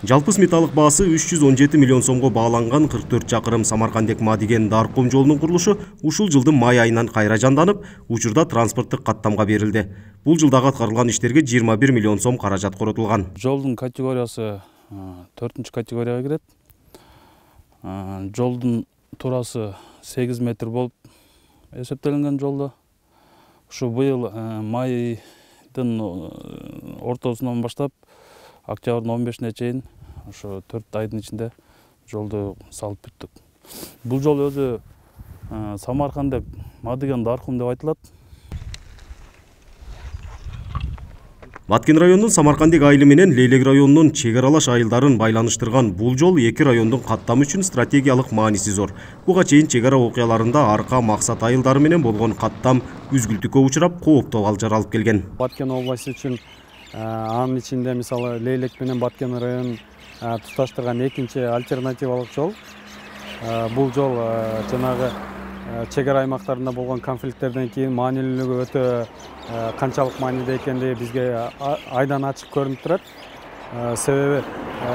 Жалпы сметалык баасы 317 миллион сомго бааланган 44 чакырым Самаркандек-Мадиген Дарком жолунун курулушу ушул жылдын май айынан кайра жанданып, учурда транспорттук каттамга берилди. Бул жылдагы аткарылган иштерге 21 миллион сом каражат коротулган. Жолдун категориясы 4-категорияга кирет. Жолдун турасы 8 метр болуп эсептелинген жолдо. Ушу быйыл майдын ортосунан баштап октябрдын 15-ине чейин ошо 4 айдын ичинде жолду салып бүттүк. Бул жол өзү Самаркандек Мадиген Дарком деп айтылат. Баткен районунун Самаркандек айылы менен Лейлек районунун чек аралаш айылдарын байланыштырган бул жол эки райондун каттамы үчүн стратегиялык мааниси зор. Буга чейин чек ара окуяларында арка максат айылдары менен болгон каттам үзгүлтүккө учурап, кооптуу абал алып келген. Баткен областы үчүн анын ичинде мисалы Лейлек менен Баткен районун туташтырган экинчи альтернативалык жол. Бул жол жанагы чек ара аймактарында болгон конфликттерден кийин маанилүүлүгү өтө канчалык мааниде экендиги бизге айдан ачык көрүнүп турат. Себеби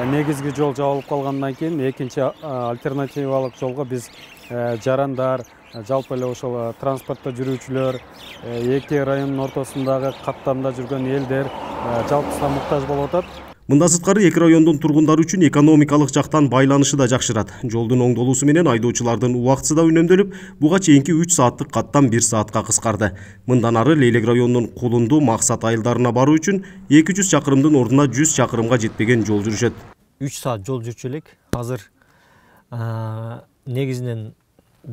негизги жол жабылып калгандан кийин экинчи альтернативалык жолго биз жарандар, жалпы эле ошол транспортто жүрүүчүлөр, эки райондун ортосундагы каттамда жүргөн элдер жалпысына муктаж болуп атат. Мындан сырткары эки райондун тургундары үчүн экономикалык жактан байланышы да жакшырат. Жолдун оңдолуусу менен айдоочулардын убактысы да үнөмдөлүп, буга чейинки 3 сааттык каттам 1 саатка кыскарды. Мындан ары Лейлек районунун Кулунду максат айылдарына баруу үчүн 200 чакырымдын ордуна 100 чакырымга жетпеген жол жүрүшөт. 3 саат жол жүрчү элек. Азыр негизинен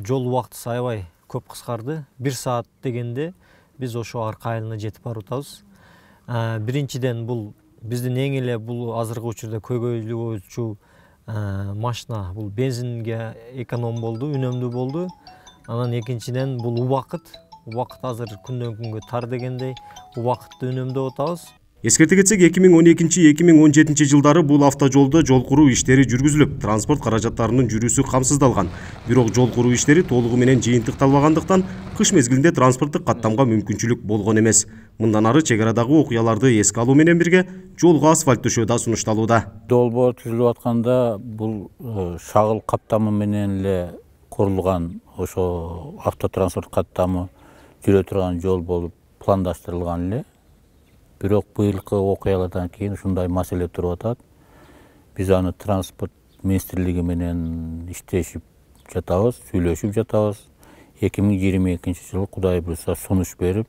жол убактысы аябай көп кыскарды. 1 саат дегенде биз ошо арка айылына жетип барып атабыз. Биринчиден бул биздин эң эле бул азыркы учурда көйгөйлүүчү машина бул бензинге эконом болду, үнөмдүү болду. Анан экинчиден бул убакыт азыр күндөн күнгө тар дегендей убакытты үнөмдөп атабыз. Эскерте кетсек, 2012-2017 жылдары бул автожолдо жол куруу иштери жүргүзүлүп, транспорт каражаттарынын жүрүүсү камсыздалган. Бирок жол куруу иштери толугу менен жыйынтыкталбагандыктан кыш мезгилинде транспорттук каттамга мүмкүнчүлүк болгон эмес. Мындан ары чек арадагы окуяларды эске алуу менен бирге жолго асфальт төшөө да сунушталууда. Долбоор түзүлүп атканда бул шагыл каттамы менен эле курулган ошо автотранспорт каттамы жүрө турган жол болуп пландаштырылган эле. Бирок быйылкы окуялардан кийин ушундай маселе туруп атат. Биз аны транспорт министрлиги менен иштешип жатабыз, сүйлөшүп жатабыз. 2022 жылы Кудай буйруса сунуш берип,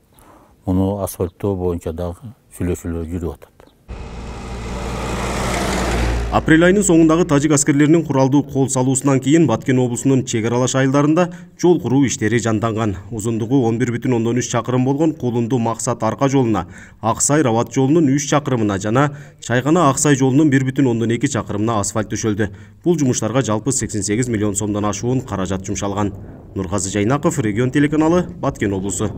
муну асфальттоо боюнча дагы сүйлөшүүлөр жүрүп атат. Апрель айынын соңундагы тажик аскерлеринин куралдуу кол салуусунан кийин Баткен облусунун чек аралаш айылдарында жол куруу иштери жанданган. Узундугу 11,3 чакырым болгон Кулунду максат арка жолуна, Аксай Рават жолунун 3 чакырымына жана Чайгана Аксай жолунун 1,2 чакырымына асфальт төшөлдү. Бул жумуштарга жалпы 88 миллион сомдон ашуун каражат жумшалган. Нургазы Жайнаков, Регион телеканалы, Баткен облусу.